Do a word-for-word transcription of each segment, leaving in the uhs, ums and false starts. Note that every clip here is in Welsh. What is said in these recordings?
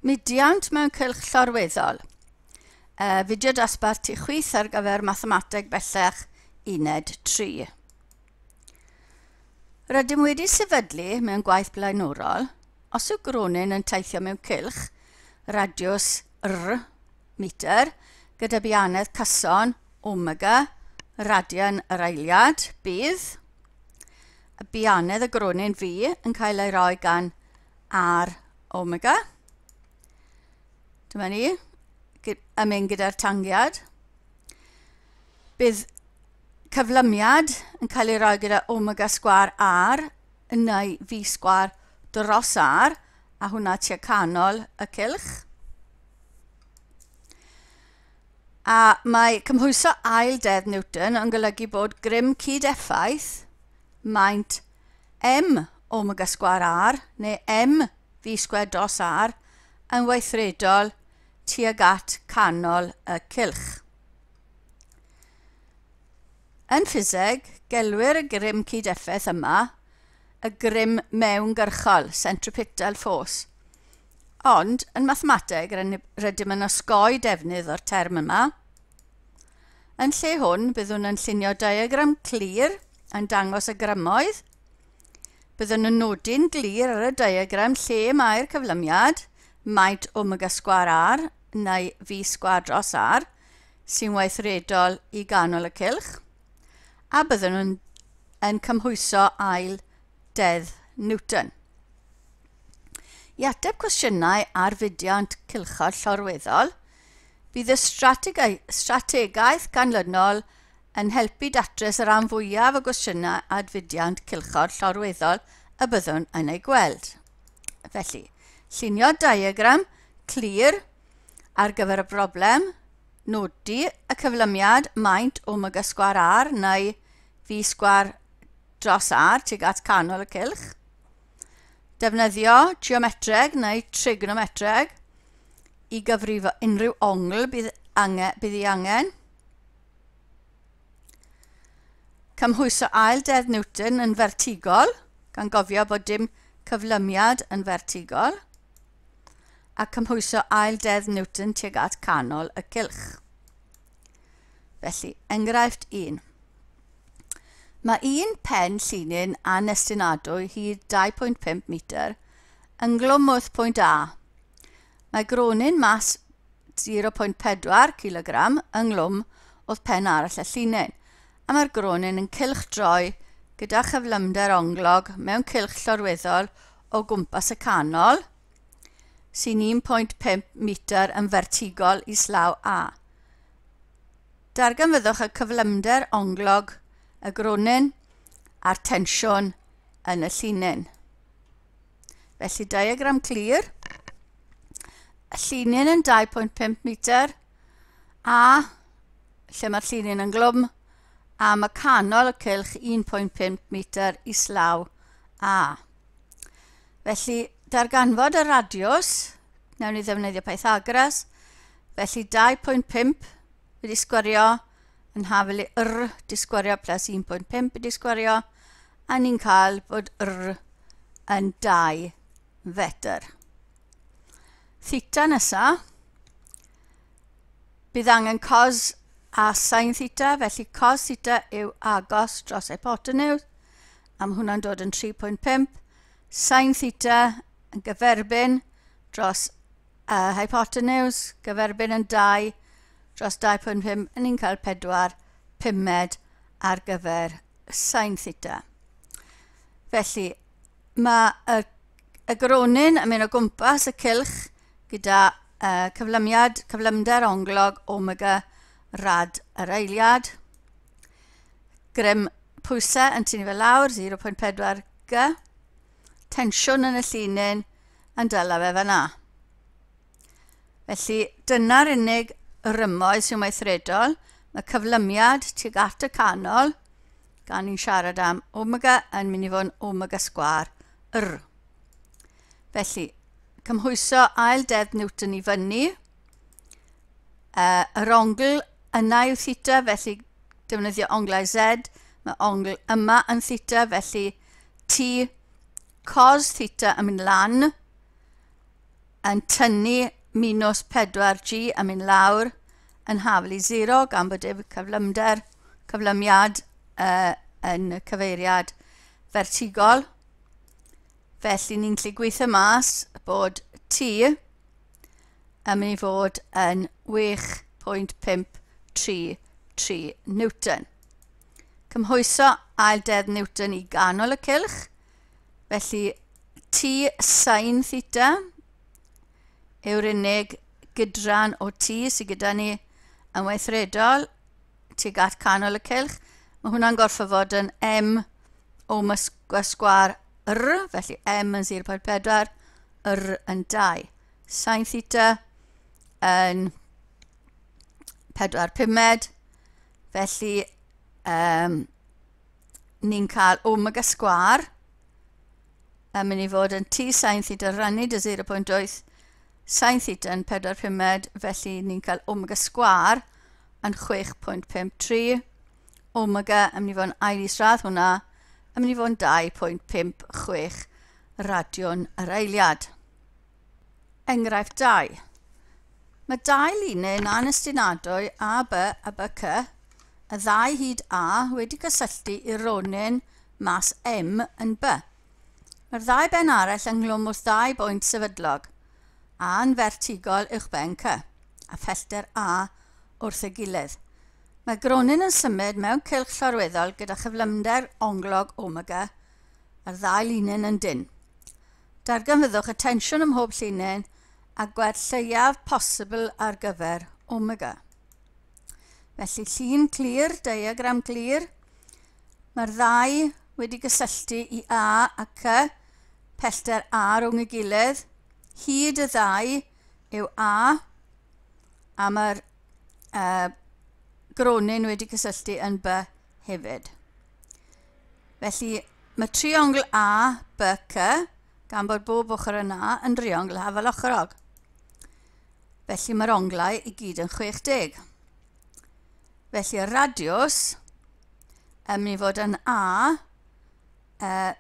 Mudiant mewn cylch llorweddol. Uh, fideo dosbarth tu chwith ar gyfer mathemateg bellach uned tri. Rydym wedi sefydlu mewn gwaith blaenorol, os yw gronyn yn teithio mewn cylch, radiws r metr, gyda bianedd cyson omega, radian yr eiliad, bydd y bianedd y gronyn V yn cael ei roi gan r omega. Dyma ni, yn mynd gyda'r tangiad. Bydd cyflymiad yn cael ei roi gyda omega sgwâr r neu v sgwâr dros r, a hwnna tua canol y cylch. A mae cymhwyso ail deddf Newton yn golygu bod grym cyd-effaith maint m omega sgwâr r neu m v sgwâr dros r yn weithredol tuag at canol y cylch. Yn ffiseg, gelwir y grym cyd-effaith yma y grym mewngyrchol, centripetal force. Ond, yn mathemateg, rydym yn osgoi defnydd o'r term yma. Yn lle hwn, byddwn yn llunio diagram clir yn dangos y grymoedd. Byddwn yn nodi'n glir ar y diagram lle mae'r cyflymiad, maint omega sgwâr r neu v sgwâr dros r, sy'n weithredol i ganol y cylch, a byddwn yn, yn cymhwyso ail deddf Newton. I ateb cwestiynau ar fudiant cylchod llorweddol, bydd y strategaeth ganlynol yn helpu datrys y rhan fwyaf o gwestiynau ar fudiant cylchod llorweddol y byddwn yn ei gweld. Felly, llunio diagram clir ar gyfer y broblem, nodi y cyflymiad maint omega sgwâr r neu v sgwâr dros r tuag at canol y cylch, defnyddio geometreg neu trigonometreg i gyfrifo unrhyw ongl bydd, ange, bydd ei angen, cymhwyso ail deddf Newton yn fertigol, gan gofio bod dim cyflymiad yn fertigol, a cymhwyso ail deddf Newton tuag at canol y cylch. Felly, enghraifft un. Mae un pen llinyn anestinadwy hyd dau pwynt pump metr ynghlwm wrth pwynt A. Mae gronyn mas zero pwynt pedwar kilogram ynghlwm wrth pen arall y llinyn, a mae'r gronyn yn cylchdroi gyda chyflymder onglog mewn cylch llorweddol o gwmpas y canol, sy'n un pwynt pump metr yn fertigol islaw A. Darganfyddwch y cyflymder onglog y gronyn a'r tensiwn yn y llinyn. Felly, diagram clir. Y llinyn yn dau pwynt pump metr, a lle mae'r llinyn yn glwm, a mae canol y cylch un pwynt pump metr islaw A. Felly, darganfod y radiws, nawn ni ddefnyddio Pythagoras, felly dau pwynt pump wedi sgwario yn hafel i r di sgwario plus un pwynt pump wedi sgwario, a ni'n cael bod r yn dau fetr. Theta nesa, bydd angen cos a sin theta, felly cos theta yw agos dros hypotenws, a mae hwnna'n dod yn tri pwynt pump. Sin theta yn gyferbyn dros uh, hypotenws, gyferbyn yn dau dros dau pwynt pump, a ni'n cael pedwar pumed ar gyfer sin theta. Felly, mae y, y gronyn yn mynd o gwmpas y cylch gyda uh, cyflymiad, cyflymder onglog omega rad yr eiliad. Grym pwysau yn tynnu fe lawr, zero pwynt pedwar g. Tensiwn yn y llinyn yn dyla fe fan'na. Felly, dyna'r unig rymoedd sy'n weithredol. Mae cyflymiad tuag at y canol, gan ni'n siarad am omega yn mynd i fod yn omega sgwâr r. Felly, cymhwyso ail deddf Newton i fyny. Uh, yr ongl yna yw theta, felly defnyddio onglau z. Mae ongl yma yn theta, felly t cos theta yn mynd lan yn tynnu minus pedwar G a mynd lawr yn hafal i sero gan bod dim cyflymder, cyflymiad uh, yn y cyfeiriad fertigol. Felly ni'n gallu gweithio mas bod T yn mynd i fod yn chwech pwynt pump tri tri Newton. Cymhwyso ail deddf Newton i ganol y cylch. Felly T sin theta yw'r unig gydran o T sydd gyda ni yn weithredol tuag at canol y cylch. Mae hwnna'n gorfod fod yn M omega sgwâr R, felly M yn zero pwynt pedwar, R yn dau. Sin theta yn pedwar pumed, felly um, ni'n cael omega sgwâr yn mynd i fod yn T sin theta rannu dy zero pwynt wyth, sin theta yn pedwar pumed, felly ni'n cael omega sgwâr yn chwech pwynt pump tri, omega yn mynd i fod yn ail isradd hwnna, yn mynd i fod yn dau pwynt pump chwech radion yr eiliad. Enghraifft dau. Mae dau linyn anestynadwy A B a B C, y ddau hyd A wedi cysylltu i'r ronyn mas M yn B. Mae'r ddau ben arall ynghlwm wrth ddau bwynt sefydlog, A yn fertigol uwchben C, a phellter A wrth ei gilydd. Mae gronyn yn symud mewn cylch llorweddol gyda chyflymder onglog omega a'r ddau linyn yn dynn. Darganfyddwch y tensiwn ym mhob llinyn a gwerth lleiaf posibl ar gyfer omega. Felly llun clir, diagram clir. Mae'r ddau wedi gysylltu i A a C, pellter A rhwng ei gilydd. Hyd y ddau yw A, a mae'r uh, gronyn wedi cysylltu yn B hefyd. Felly mae triongl A, B, C, gan bod bob ochr yn A, yn driongl hafal ochrog. Felly mae'r onglau i gyd yn chwech deg. Felly y radiws yn mynd i fod yn A, uh,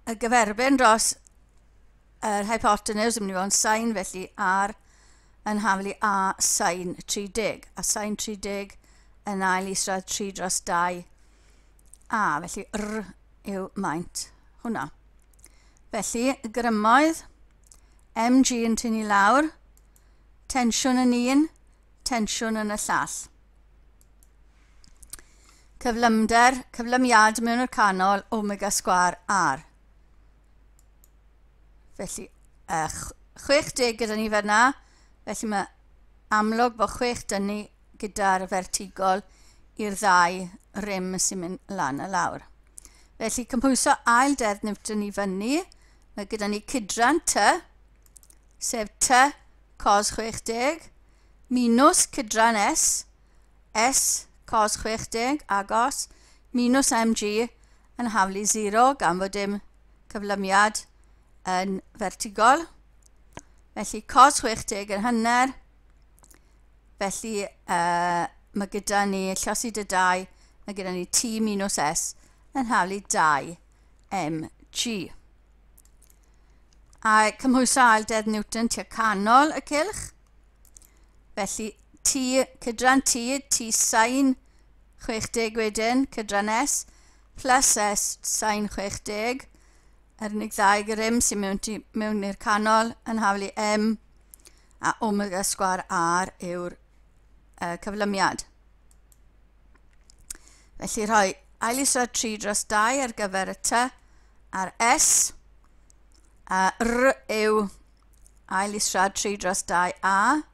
y gyferbyn dros yr hypotenuse yn mynd i fod yn sin, felly R yn hafal i A sin tri deg. A sin tri deg yn ail isradd tri dros dau A, felly R yw maint hwnna. Felly, y grymoedd, M G yn tynnu lawr, tensiwn yn un, tensiwn yn y llall. Cyflymder, cyflymiad mewn i'r canol, omega sgwâr R. Felly, uh, chwech deg gyda ni fan'na, felly mae amlwg bod chwech dynnu gyda'r fertigol i'r ddau rym sy'n mynd lan a lawr. Felly, cymhwyso ail deddf Newton i fyny, mae gyda ni cydran T, sef T cos chwech deg, minus cydran S, S cos chwech deg, agos, minus M G yn haflu sero gan fod dim cyflymiad yn fertigol. Felly cos chwech deg yn hanner, felly uh, mae gyda ni llosi dy dau, mae gyda ni T minus S yn haflu dau M G. A cymhwyso ail deddf Newton tua canol y cylch. Felly T, cydran T, T sin chwech deg wedyn, cydran S, plus S sin chwech deg, yr unig ddau grym sy'n mewn, mewn i'r canol yn haflu M, a omega sgwâr R yw'r uh, cyflymiad. Felly rhoi ail isradd tri dros dau ar gyfer y T a'r S, a R yw ail isradd tri dros dau A,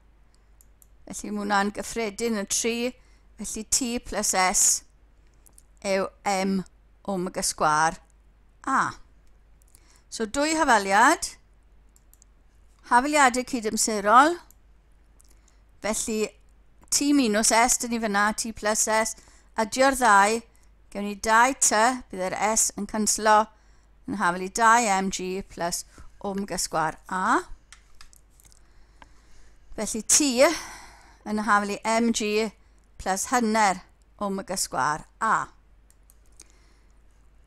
felly mae hwnna'n gyffredin yn tri, felly T plus S yw M omega sgwâr A. So dwy hafaliad, hafaliadau cydymserol, felly T minus S, dyn ni fyna, T plus S, adio'r ddau, gewn ni dau T, bydd yr S yn canslo, yn hafal i dau M G plus omega sgwâr A. Felly T yn hafal i M G plus hanner omega sgwâr A.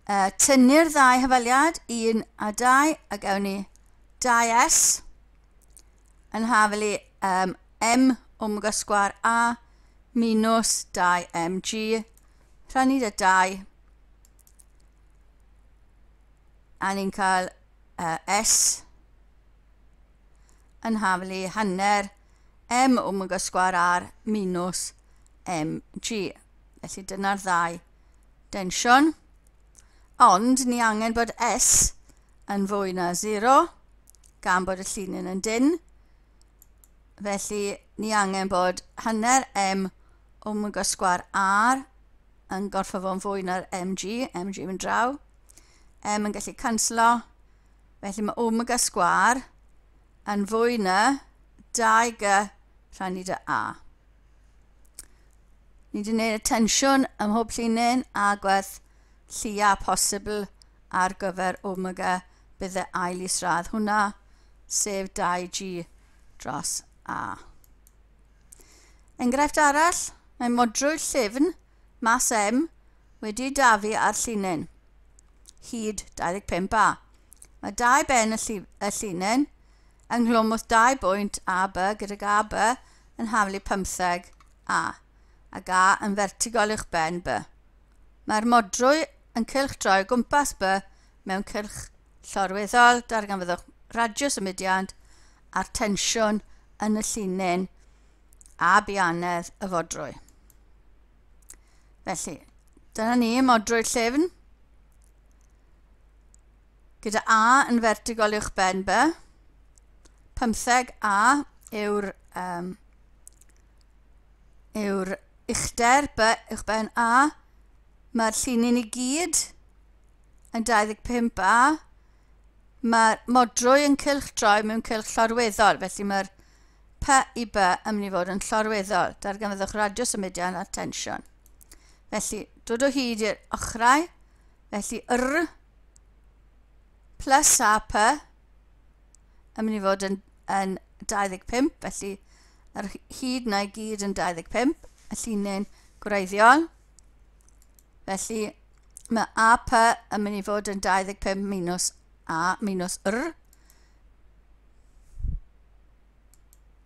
Uh, tynnu'r ddau hafaliad, un a dau, a gawn ni dau S yn hafelu um, M omega sgwâr A minus dau M G rhannu dy dau, a ni'n cael uh, S yn hafelu hanner M omega sgwâr R minus M G. Felly dyna'r ddau densiwn. Ond ni angen bod S yn fwy na sero, gan bod y llinyn yn dynn. Felly ni angen bod hanner M omega sgwâr R yn gorfod fod yn fwy na'r M G, M G yn draw. M yn gallu canslo, felly mae omega sgwâr yn fwy na dau G rhannu dy A. Ni wedi gwneud y tensiwn ym mhob llinyn a gwerth lleia posibl ar gyfer omega bydd y ail isradd hwnna, sef dau G dros A. Enghraifft arall, mae modrwy llyfn mas M wedi dafu ar llinyn, hyd dau ddeg pump A. Mae dau ben y, y llinyn ynghlwm wrth dau bwynt A B gydag A B yn haflu pymtheg A, ac A yn fertigol uwch ben B. Mae'r modrwy yn cylchdroi o gwmpas B mewn cylch llorweddol, darganfyddwch radiws y mudiad a'r tensiwn yn y llinyn a bianedd y fodrwy. Felly, dyna ni modrwy llyfn, gyda A yn fertigol uwch ben B. pymtheg A yw'r um, yw'r uchder B uwch ben A. Mae'r llinyn i gyd yn dau ddeg pump A. Mae'r modrwy yn cylchdroi mewn cylch llorweddol, felly mae'r P i B yn mynd i fod yn llorweddol. Darganfyddwch radiws y mudiad a'r tensiwn. Felly, dod o hyd i'r ochrau, felly R plus A P yn mynd i fod yn, yn dau ddeg pump, felly yr hyd na i gyd yn dau ddeg pump, y llinyn gwreiddiol. Felly mae A P yn mynd i fod yn dau ddeg pump minus A minus R.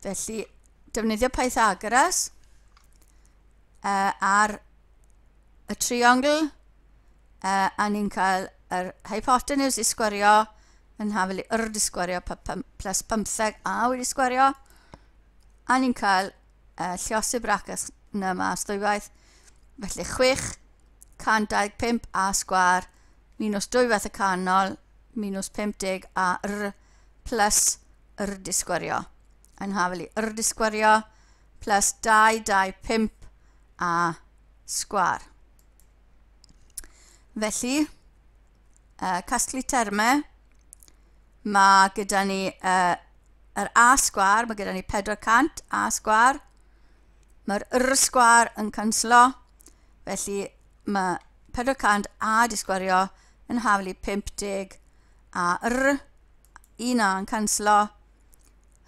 Felly defnyddio Pythagoras uh, ar y triongl, uh, a ni'n cael yr hypotenws i sgwario yn hafel i R di sgwario plus pymtheg A wedi sgwario, a ni'n cael uh, lluosi bracas yna mas ddwywaith, felly chwech cant dau ddeg pump A sgwâr minus dwywaith y canol minus pump deg A R plus R di sgwario yn hafel i R di sgwario plus dau dau pump A sgwâr. Felly, uh, casglu termau, mae gyda ni uh, yr A sgwâr, mae gyda ni pedwar cant A sgwâr. Mae'r R sgwâr yn canslo, felly mae pedwar cant A di sgwario yn haflu pump deg A R, un A yn canslo,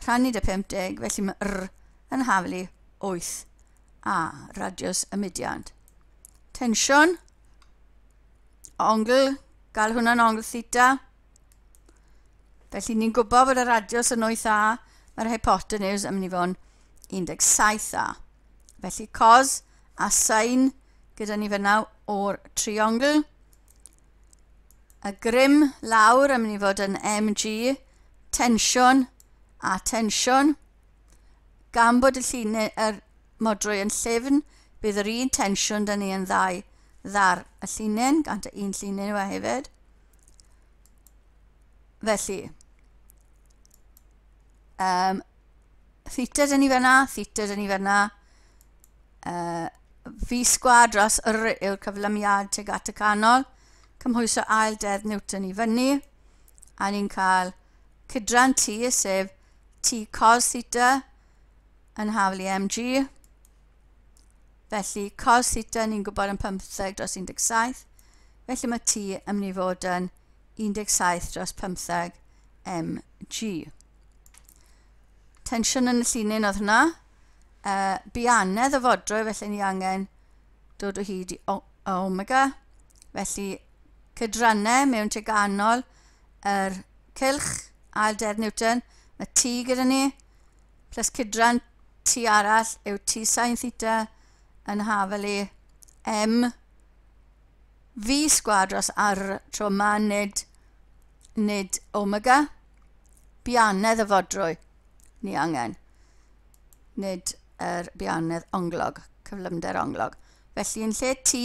rhannu dy pump deg, felly mae R yn haflu wyth A, radiws y mudiad. Tensiwn, ongl, gael hwnna'n ongl theta. Felly ni'n gwybod bod y radiws yn wyth A, mae'r hypotenws yn mynd i fod yn un deg saith A. Felly cos a sin gyda ni fyna o'r triongl. Y grym lawr yn mynd i fod yn M G, tensiwn a tensiwn. Gan bod y llinyn yr modrwy yn llyfn, bydd yr un tensiwn da ni yn ddau ddar y llinyn, gan y un llinyn yw e hefyd. Felly, um, theta dyn ni fyna, theta dyn ni fyna, uh, V sgwâr dros R yw'r cyflymiad tuag at y canol, cymhwyso ail deddf Newton i fyny, a ni'n cael cydran T, sef T cos theta yn haflu M G. Felly cos theta ni'n gwybod yn pymtheg dros un deg saith, felly mae T yn mynd i fod yn un deg saith dros pymtheg M G. Tensiwn yn y llinyn oedd hwnna. Uh, bianedd y fodrwy, felly ni angen dod o hyd i omega. Felly cydrannau mewn teganol yr cylch ail deddf Newton, mae T gyda ni, Plus cydran T arall yw T sin theta yn hafal i M V sgwâr dros R tro yma, nid, nid omega. Bianedd y fodrwy ni angen, nid yr bianedd onglog, cyflymder onglog. Felly yn lle T,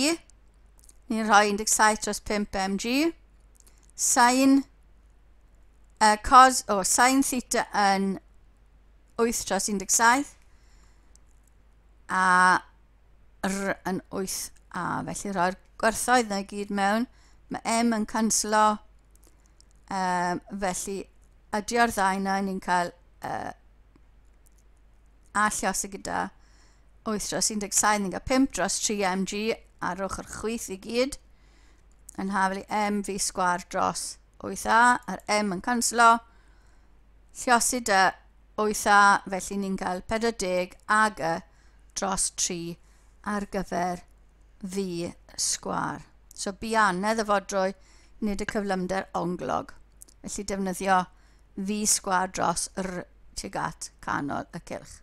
ni'n rhoi un deg saith dros pump M G. Sin, uh, cos, oh, sin theta yn wyth dros un deg saith a R yn wyth A. Felly rhoi'r gwerthoedd na i gyd mewn. Mae M yn canslo, um, felly adio'r ddau na ni'n cael uh, a lliosi gyda wyth dros un deg saith, ni'n cael pump dros tri M G ar ochr chwith i gyd yn hafal i M V sgwâr dros wyth A, a'r M yn canslo. Lliosi dy wyth A, felly ni'n cael pedwar deg A G dros tri ar gyfer V sgwâr. So bianedd y fodrwy, nid y cyflymder onglog. Felly defnyddio V sgwâr dros R tuag at canol y cylch.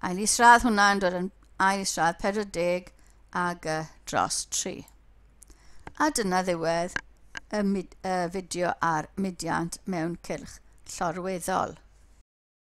Ail isradd hwnna yn dod yn ail isradd pedwar deg A G dros tri. A dyna ddiwedd y, mid, y fideo ar mudiant mewn cylch llorweddol.